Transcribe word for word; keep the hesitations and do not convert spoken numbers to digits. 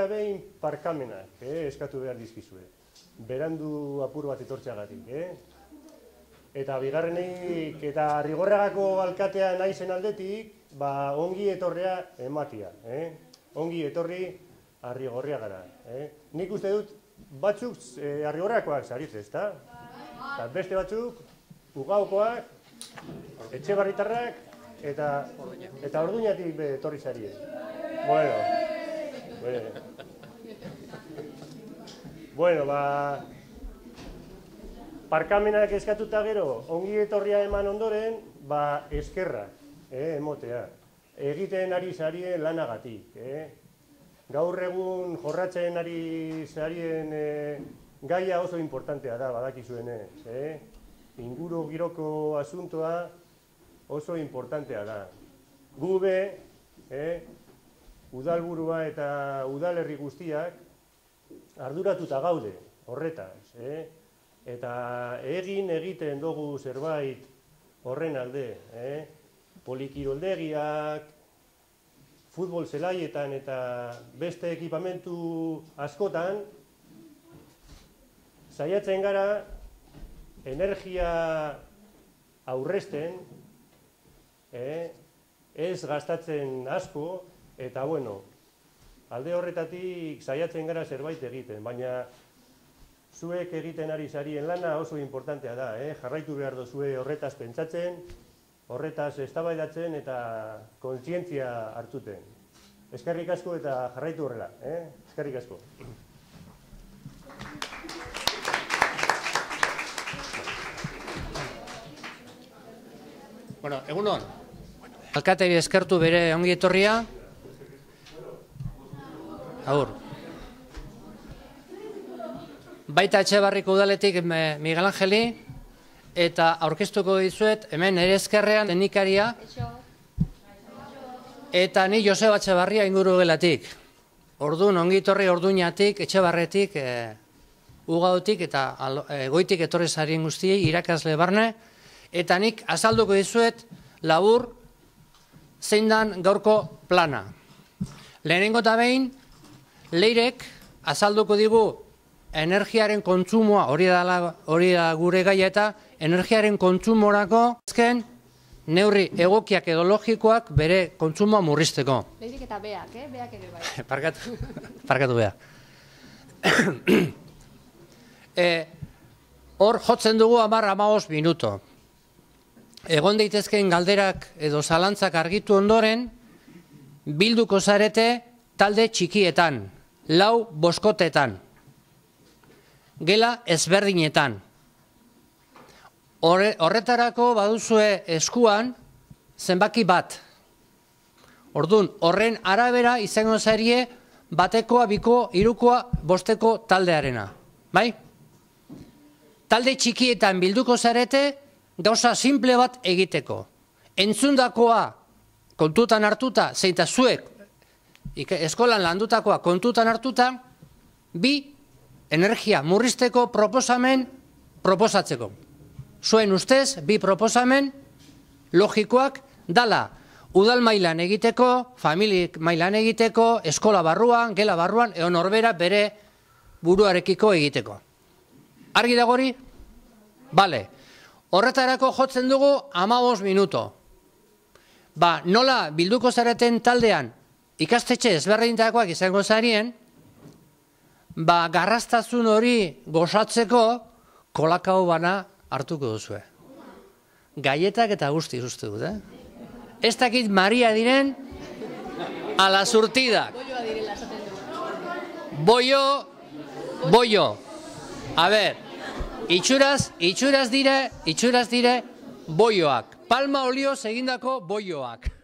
eta behin parkamenak eskatu behar dizkizue. Berandu apur bat etortxagatik. Eta bigarrenik eta Rigorriagako alkatea naizen aldetik, ongi etorrea ematia. Ongi etorri Arrigorriagara. Nik uste dut batzuk Arrigorriakoak zaritz, ezta? Beste batzuk, Ugaukoak, Etxebarritarrak eta Orduñatik etorri zarie. Bueno, bueno, ba, parkamenak eskatuta gero, ongi etorria eman ondoren, ba, eskerrak, emotea. Egiten ari zarien lanagatik. Gaur egun jorratzen ari zarien gaia oso importantea da, badakizuenez. Inguru giroko asuntoa oso importantea da. Gube, udalburua eta udalerri guztiak arduratuta gaude horretaz. Eta egin egiten dugu zerbait horren alde. Polikiroldegiak, futbol zelaietan eta beste ekipamentu askotan saiatzen gara energia aurrezten, ez gastatzen asko, eta bueno, alde horretatik saiatzen gara zerbait egiten, baina zuek egiten ari zarien lana oso importantea da, jarraitu behar duzue horretaz pentsatzen, horretaz eztabaidatzen eta kontzientzia hartuten. Eskerrik asko eta jarraitu horrela, eskerrik asko. Bueno, egunon. Alkateari eskertu bere ongi etorria. Agur. Baita Etxebarriko udaletik Miguel Angeli, eta aurkeztuko dizuet, hemen ere eskerrean teknikaria, eta ni Joseba Etxebarria inguru gelatik. Orduan, ongi etorri Orduñatik, Etxebarretik, Ugautik eta Goitik etorri zarien guztiei, irakasle barne, eta nik azalduko dizuet labur zein dan gaurko plana. Lehenengo eta behin, Leirek azalduko digu energiaren kontsumoa, hori da gure gaia eta energiaren kontsumorako ezken neurri egokiak edo logikoak bere kontsumoa murrizteko. Leirik eta beak, eh? Beak ere bai. Parkatu, parkatu beha. Hor jotzen dugu hamar hamabost minuto. Egon daitezkeen galderak edo zalantzak argitu ondoren, bilduko zarete talde txikietan, lau boskotetan, gela ezberdinetan. Horretarako baduzue eskuan zenbaki bat. Orduan, horren arabera izango zarie batekoa, biko, hirukoa, bosteko taldearena. Bai? Talde txikietan bilduko zarete, gauza simple bat egiteko. Entzundakoa kontutan hartuta, zeita zuek eskolan landutakoa kontutan hartuta, bi energia murrizteko proposamen proposatzeko. Zuen ustez, bi proposamen logikoak dala udal mailan egiteko, familik mailan egiteko, eskola barruan, gela barruan, edo norbera bere buruarekiko egiteko. Argi dagori? Bale. Horretarako jotzen dugu hamabost minuto. Ba, nola bilduko zareten taldean ikastetxe ezberdintakoak izango zarien, ba, garrastazun hori gozatzeko kolakao bana hartuko duzue. Gaietak eta guzti uste dut, eh? Ez dakit Maria diren ala surtidak. Boio, boio. A ber, itxuraz, itxuraz dire, itxuraz dire boioak. Palma olioz egindako boioak.